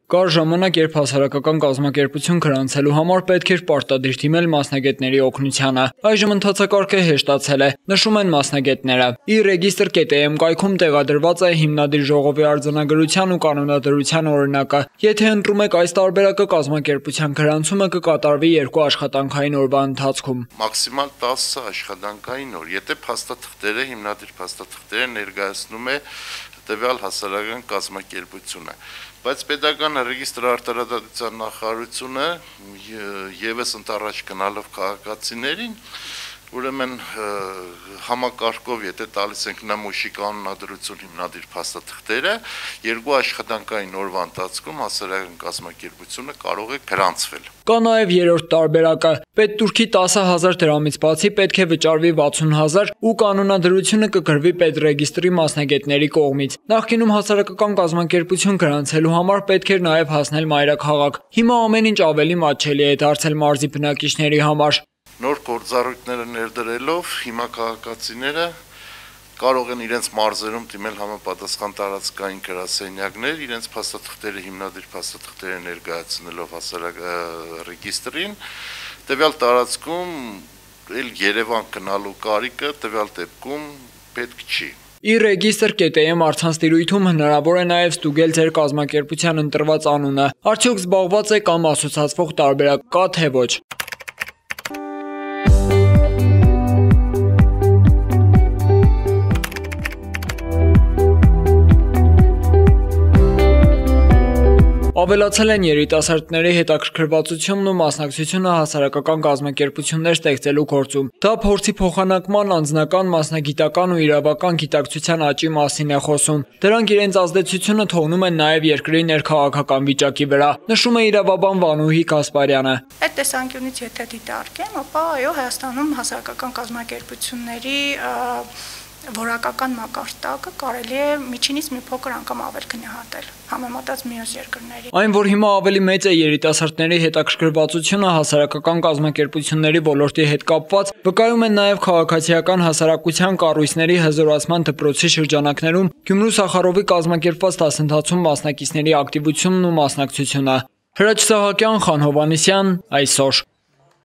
Կար ժամանակ, երբ հասարակական կազմակերպություն գրանցելու համար պետք էր պարտադիր դիմել մասնագետների օգնությանը։ Այժմ ընթացակարգը հեշտացել է, նշում են մասնագետները։ E-Register.am կայքում տեղադրված է հիմնադիր ժողովի արձանագրության ու կանոնադրության օրինակը։ Եթե ընտրում եք այս տարբերակը, կազմակերպության գրանցումը կկատարվի 2 աշխատանքային օրվա ընթացքում։ Մաքսիմալ 10 աշխատանքային օր, եթե փաստաթղթերը, հիմնադիր փաստաթղթերը ներկայացնում է տվյալ հասարակական կազմակերպությունը, բայց պետական ռեգիստրի արտարադատության նախարարությունը եւս ընթառաջ գնալով քաղաքացիներին, ուրեմն համակարգով, եթե տալիս ենք նմուշի կանոնադրություն հիմնադիր փաստաթղթերը, 2 աշխատանքային օրվա ընթացքում հասարակական կազմակերպությունը կարող է գրանցվել։ Կա նաև երրորդ տարբերակը։ Պետտուրքի 10,000 դրամից բացի պետք է վճարվի 60,000 ու կանոնադրությունը կգրվի պետռեգիստրի մասնագետների կողմից։ Նախկինում հասարակական կազմակերպություն գրանցելու համար պետք էր նաև հասնել մայրաքաղաք։ Հիմա ամեն ինչ ավելի մատչելի է դարձել մարզի բնակիչների համար։ Նոր գործառույթները ներդրելով հիմա քաղաքացիները կարող են իրենց մարզերում դիմել համապատասխան տարածքային գրասենյակներ, իրենց փաստաթղթերը, հիմնադիր փաստաթղթերը ներկայացնելով հասարակ ռեգիստրին, տվյալ տարածքում էլ Երևան գնալու կարիքը տվյալ դեպքում պետք չի։ E-Register.am առցանց հնարավոր է նաև ստուգել ձեր կազմակերպության ընտրված անունը, արդյոք զբաղված է կամ ասոցացվող տարբերակ կա, թե ոչ։ Ավելացել են երիտասարդների հետաքրքրվածությունն ու մասնակցությունը հասարակական կազմակերպություններ ստեղծելու գործում։ Դա փորձի փոխանակման, անձնական, մասնագիտական ու իրավական գիտակցության աճի մասին է խոսում։ Դրանք իրենց ազդեցությունը թողնում են նաև երկրի ներքաղաքական վիճակի վրա, նշում է իրավաբան Վանուհի Գասպարյանը։ Այդ տեսանկյունից եթե դիտարկեմ, ապա այո, Հայաստանում հասարակական կազմակերպությունների որակական մակարդակը կարելի է միջինից մի փոքր անգամ ավել գնահատել, համեմատած մյուս երկրների։ Այն, որ հիմա ավելի մեծ է երիտասարդների հետաքրքրվածությունը հասարակական կազմակերպությունների ոլորտի հետ կապված, վկայում են նաև քաղաքացիական հասարակության կառույցների հզորացման դպրոցի շրջանակներում Գյումրու Սախարովի կազմակերպված դասընթացում մասնակիցների ակտիվությունն ու մասնակցությունը։ Հրաչ Սահակյան, Խան Հովհաննիսյան, այսօր։